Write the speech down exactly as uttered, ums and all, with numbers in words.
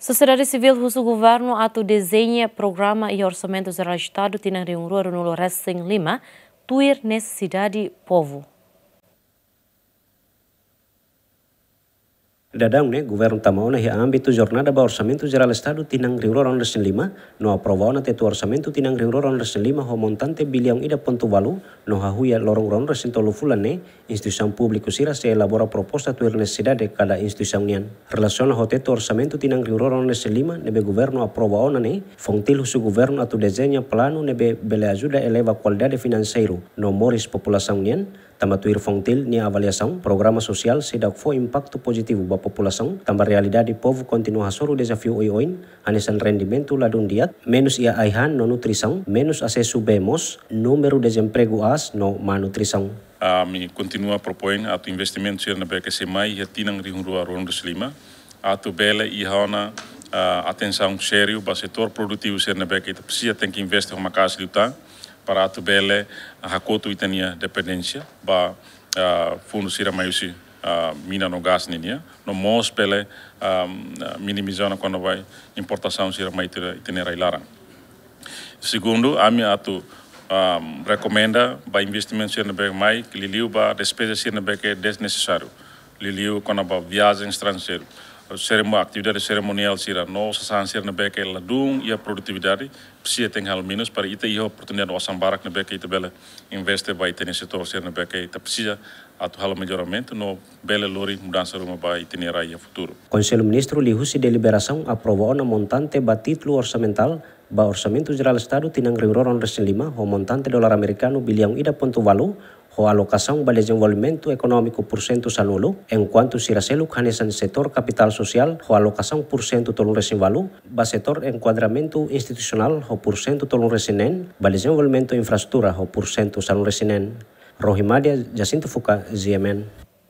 Sosiedade sivíl husu governu atu dezeña programa iha Orsamentu Jerál Estadu tinan rihun rua ruanulu-resin-lima, tuir nesesidade povu. Daudaun ne'e, governu tama ona iha ámbitu jornada ba Orsamentu Jerál Estadu tinan rihun rua ruanulu-resin-lima, no aprova ona tetu orsamentu tinan rihun rua ruanulu-resin-lima ho montante biliaun ida pontu ualu, no hahú iha loron ruanulu-resin-tolu fulan ne'e, instituisaun públiku sira sei elabora proposta tuir nesesidade kada instituisaun nian. Relasiona ho tetu orsamentu tinan rihun rua ruanulu-resin-lima ne'ebé governu aprova ona ne'e, FONGTIL husu governu atu dezeña planu ne'ebé bele ajuda eleva kualidade finanseiru no moris populasaun nian, tanba tuir FONGTIL nia avaliasaun, programa sosiál seidauk fó impaktu pozitivu ba populasaun, tanba realidade povu kontinua hasoru dezafiu oioin, hanesan rendimentu ladún di'ak, menus iha ai-han no nutrisaun, menus asesu bee moos, númeru dezempregu aas no má nutrisaun. Ami kontinua propoin atu investimentu sira ne'ebé ke sei mai iha tinan rihun rua ruanulu-resin-lima, atu bele iha ona, ah, atensaun sériu ba setór produtivu sira ne'ebé ke ita presiza tenke investe ho maka'as liután, para atu bele, ah, hakotu ita-nia dependénsia ba, ah, fundu sira mai husi, ah, mina no gás ninian, no mós bele, ah, minimiza ona kona-ba importasaun sira mai ita, ita-nia rai-laran. Segundu, ami atu, ah, rekomenda ba investimentu sira ne'ebé mai, liuliu ba despeza sira ne'ebé ke desnesesáriu, liuliu kona-ba viajen estranjeiru, seremo-, atividade serimoniál sira, no sasán sira ne'ebé ke ladún iha produtividade, presiza tenke halo menus para ita iha oportunidade osan barak ne'ebé ke ita bele investe ba ita-nia setór sira ne'ebé ke ita presiza atu halo melloramentu no bele lori mudansa ruma ba ita-nia rai iha futuru. Konsellu Ministru liuhusi deliberasaun aprova ona montante ba títulu orsamentál ba Orsamentu Jerál Estadu tinan rihun rua ruanulu-resin-lima ho montante dolar amerikanu biliaun ida pontu ualu, ho alokasaun ba dezenvolvimentu ekonómiku pursentu sanulu, enkuantu sira seluk hanesan setór kapitál sosiál ho alokasaun pursentu tolunulu-resin-ualu, ba setór enkuadramentu institusionál ho pursentu tolunulu-resin-neen, ba dezenvolvimentu infraestrutura ho pursentu sanulu-resin-neen. Rohi Madia, Jacinto Fuca, G M N.